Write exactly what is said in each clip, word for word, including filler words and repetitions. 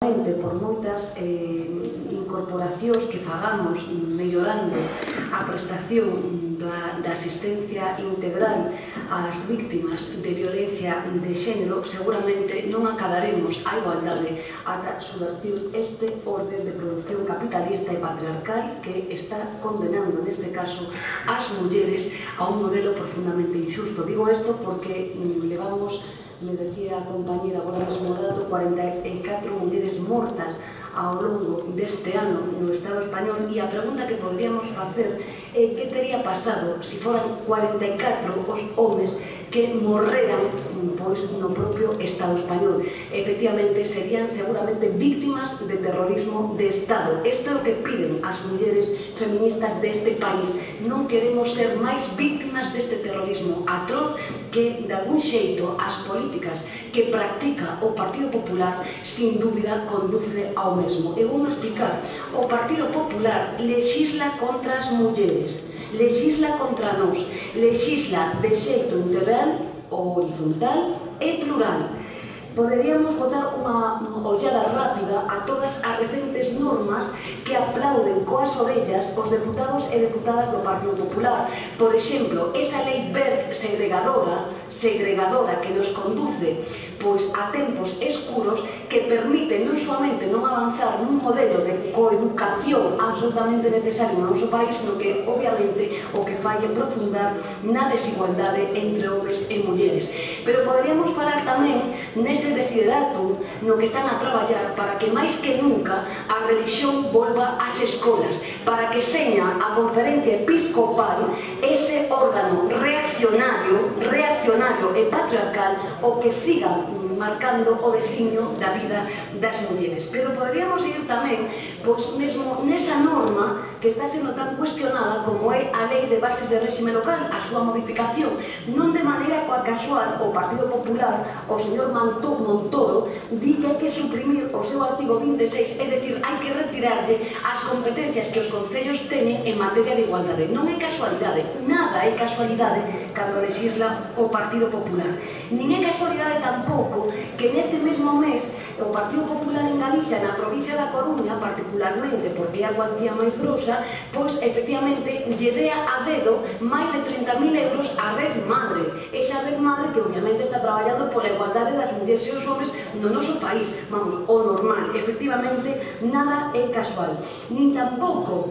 Por moitas eh, incorporacións que fagamos mellorando a prestación da, da asistencia integral ás víctimas de violencia de xénero, seguramente non acabaremos a igualdade ata subvertir este orden de produción capitalista e patriarcal que está condenando neste caso ás mulleres a un modelo profundamente injusto. Digo isto porque mm, levamos, me decía a compañera agora mesmo dato, cuarenta e catro mulleres mortas ao longo deste ano no Estado español, e a pregunta que podríamos facer é que teria pasado se foran cuarenta e catro os homes que morreran pois, no propio Estado español. Efectivamente, serían seguramente víctimas de terrorismo de Estado. Isto é o que piden as mulleres feministas deste país. Non queremos ser máis víctimas deste terrorismo atroz que, de algún xeito, as políticas que practica o Partido Popular, sin dúbida, conduce ao mesmo. Eu vou explicar. O Partido Popular lexisla contra as mulleres, lexisla contra nós, lexisla de xeito integral, horizontal e plural. Poderíamos botar unha ollada rápida a todas as recentes normas que aplauden coas orellas os deputados e deputadas do Partido Popular. Por exemplo, esa lei verde segregadora, segregadora que nos conduce pois a tempos escuros, que permite non somente non avanzar nun modelo de coeducación absolutamente necesario no noso país, sino que, obviamente, o que fai é profundar na desigualdade entre homes e mulleres. Pero poderíamos falar tamén nese desideratum no que están a traballar para que máis que nunca a religión volva ás escolas, para que seña a conferencia episcopal ese órgano reaccionario, reaccionario e patriarcal o que siga marcando o designio da vida das mulleres. Pero poderíamos ir tamén, pois mesmo nesa norma que está sendo tan cuestionada como é a Lei de Bases de Réxime Local, a súa modificación. Non de maneira coa casual, o Partido Popular, o señor Montoro, di que hai que suprimir o seu artigo vinte e seis, é dicir, hai que retirarlle as competencias que os concellos teñen en materia de igualdade. Non é casualidade, nada é casualidade cando lexisla o Partido Popular. Nin é casualidade tampouco que neste mesmo mes o Partido Popular en Galicia, na provincia da Coruña, particularmente porque é a cuantía máis grosa, pois efectivamente lle dea a dedo máis de trinta mil euros a Red Madre. Esa Red Madre que obviamente está traballando pola igualdade das mulleres e os homes no noso país. Vamos, o normal. Efectivamente, nada é casual. Nin tampouco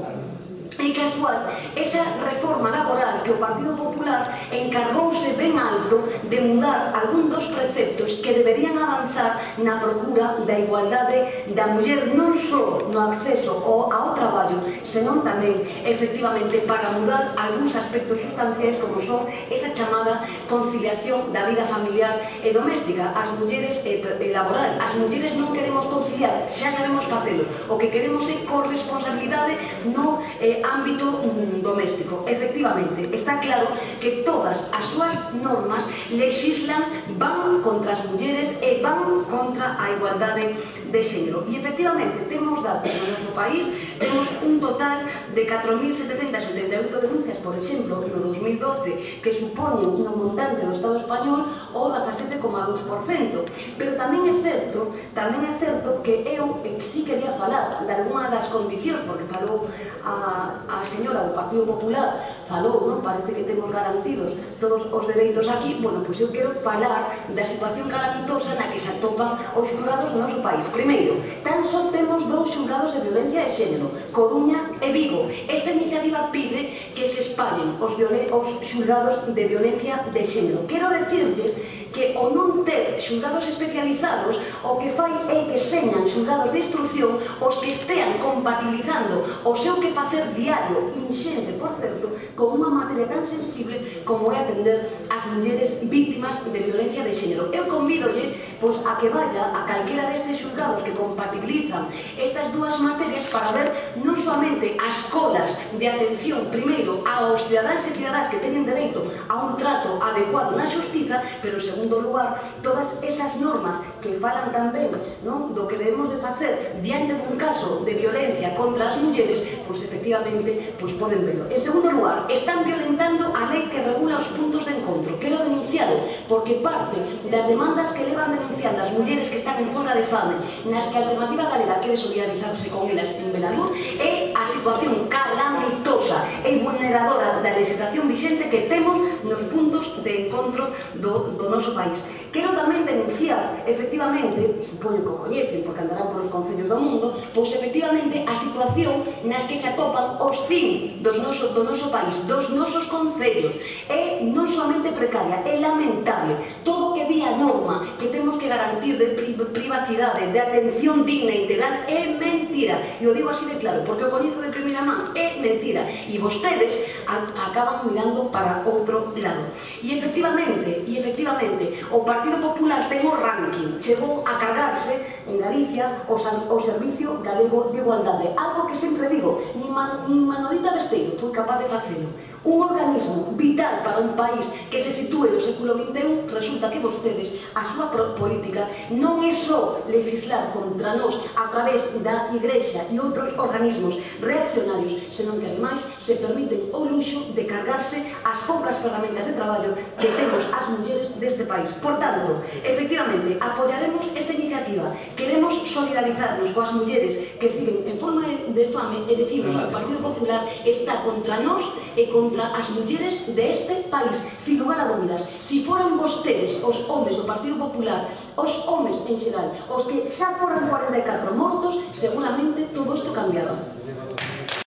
é casual esa reforma laboral que o Partido Popular encargouse ben alto de mudar algún dos preceptos que deberían avanzar na procura da igualdade da muller non só no acceso ao traballo, senón tamén, efectivamente, para mudar algúns aspectos sustanciais como son esa chamada conciliación da vida familiar e doméstica. As mulleres e laboral, as mulleres non queremos conciliar, xa sabemos facelo, o que queremos é corresponsabilidade no eh, ámbito mm, doméstico. Efectivamente, está claro que todas as súas normas lexislan, van contra as mulleres e van contra a igualdade de xénero. E efectivamente, temos datos no noso país, temos un total de catro mil setecentas oitenta e oito denuncias, por exemplo, no dos mil doce, que supoñen no montante do Estado español o dezasete coma dous por cento. Pero tamén é certo, tamén é certo que eu si quería falar de alguna das condicións, porque falou a a señora do Partido Popular, falou, non? Parece que temos garantidos todos os dereitos aquí. Bueno, pois eu quero falar da situación calamitosa na que se atopan os xulgados no noso país. Primeiro, tan só temos dous xulgados de violencia de xénero, Coruña e Vigo. Esta iniciativa pide que se espallen os, os xulgados de violencia de xénero. Quero decirles que o non ter xulgados especializados o que fai é que señan xulgados de instrucción os que estean compatibilizando o seu que facer diario, inxente, por certo, con unha materia tan sensible como é atender as mulleres víctimas de violencia de xénero. Eu convídolle pois, a que vaya a calquera destes xulgados que compatibilizan estas dúas materias para ver non solamente as colas de atención, primeiro, aos cidadáns e cidadáns que teñen dereito a un trato adecuado na xustiza, pero segundo, segundo lugar, todas esas normas que falan tamén do que debemos de facer diante dun caso de violencia contra as mulleres, pois efectivamente poden velo. En segundo lugar, están violentando a lei que regula os puntos de encontro. Quero denunciarlo, porque parte das demandas que levan denunciando as mulleres que están en folga de fame, nas que a Alternativa Galega quere solidarizarse con elas en Belaluz, é a situación calamitosa e vulneradora da legislación vixente que temos nos puntos de encontro do, do noso país. Quero tamén denunciar, efectivamente, supoño que o coñecen, porque andarán polos concellos do mundo, pois efectivamente a situación nas que se atopan os fins dos noso, do noso país, dos nosos concellos. É non somente precaria, é lamentable. Todo que di a norma que temos que garantir de pri privacidade, de atención digna e integral, é mentira. E o digo así de claro, porque o coñezo de primeira man, é mentira. E vostedes acaban mirando para outro lado. E efectivamente, e efectivamente, o Partido Popular ten o ranking, chegou a cargarse en Galicia o, o Servicio Galego de Igualdade, algo que sempre digo, ni, man, ni Manolita Besteiro foi capaz de facelo. Un organismo vital para un país que se sitúe no século vinte e un, resulta que vostedes, a súa política non é só legislar contra nós a través da Igrexa e outros organismos reaccionarios, senón que ademais se permiten o luxo de cargarse as poucas ferramentas de traballo que temos as mulleres deste país. Por tanto, efectivamente, apoiaremos esta iniciativa. Queremos solidarizarnos coas mulleres que siguen en forma de fame e decimos que o Partido Popular está contra nós e contra as mulleres deste país, sin lugar a dúbidas. Si foran vostedes, os homes do Partido Popular, os homes en xeral, os que xa foran cuarenta e catro mortos, seguramente todo isto cambiaba.